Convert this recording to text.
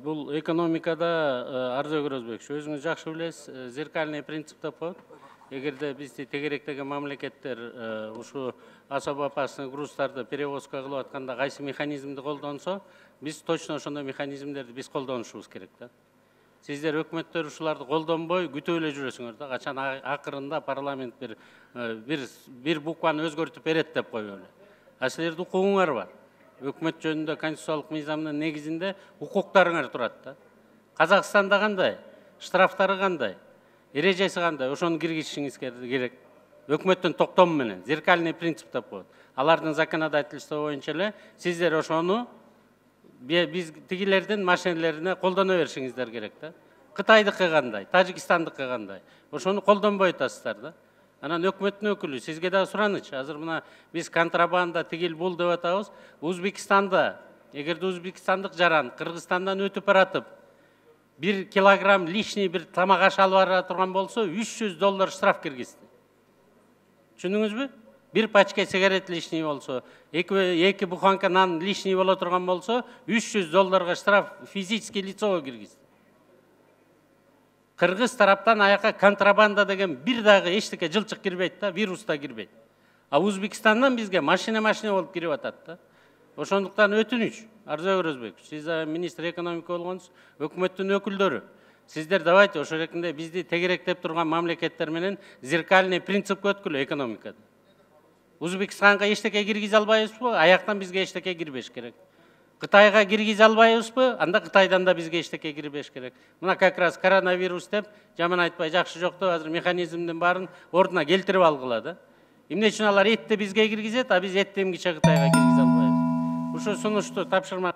Бул экономикада Арзо Көрөзбекович, өзүңүз жакшы билесиз, зеркальный принцип деп коет. Эгерде бизди тегеректеген мамлекеттер ушу особо опасный грузтарды перевозка кылып атканда кайсы механизмди колдонсо, биз точно ошондой механизмдерди биз колдонушубуз керек да. Сиздер өкмөттөр ушуларды колдонбой күтүп эле жүрөсүңөр да, качан акырында парламент бир букваны өзгөртүп берет деп коюп эле. А силердин укугуңар бар. Өкмөт жөнүндө конституциялык мыйзамдын негизинде укуктарыңар турат да. Казакстанда кандай, штрафтары кандай, эрежеси кандай, ошону киргизишиңиз керек. Өкмөттүн токтому менен, зеркальный принцип деп коет. Алардын законодательство боюнча эле сиздер ошону биз тигилердин машинелерине колдоно беришиңиздер керек да. Кытайдыкы кандай, Тажикстандыкы кандай, ошону колдонбой атасыздар да. Анан өкмөттүн өкүлү, сизге да сураныч. Азыр мына биз контрабанда тигил бул деп атабыз. Өзбекстанда, эгерде өзбекстандык жаран Кыргызстандан өтүп баратып, 1 килограмм лишний бир тамак аш алып бара турган болсо, $300 штраф киргизди. Түшүндүңүзбү? Bir пачка сигарет лишний болсо, эки буханка нан лишний боло турган болсо, $300 штраф физический лицого киргизди. Кыргыз тараптан аяка контрабанда деген бир дагы эчтеке жылчык кирбейт да, вирус да кирбейт. А Өзбекстандан бизге машина болуп кирип атат да. Ошондуктан өтүнүч, Арзо Көрөзбекович, сиз министр экономика болгонсуз, өкмөттүн өкүлдөрү. Сиздер давайте ошо эркинде бизди тегеректеп турган мамлекеттер менен зеркальный принципке өткүлө экономикада. Өзбекстанга эчтеке киргизе албайбызбы? Аяктан бизге эчтеке кирбеш керек. Кытайга киргизе албайбызбы? Анда Кытайдан да бизге эчтеке кирбеш керек. Мына как раз коронавирус деп, жаман айтпай жакшы жок деп, азыр механизмдин баарын ордуна келтирип алгыла да. Эмне үчүн алар этти бизге киргизет, а биз этти эмгиче Кытайга киргизе албайбыз? Ушу сунушту тапшырма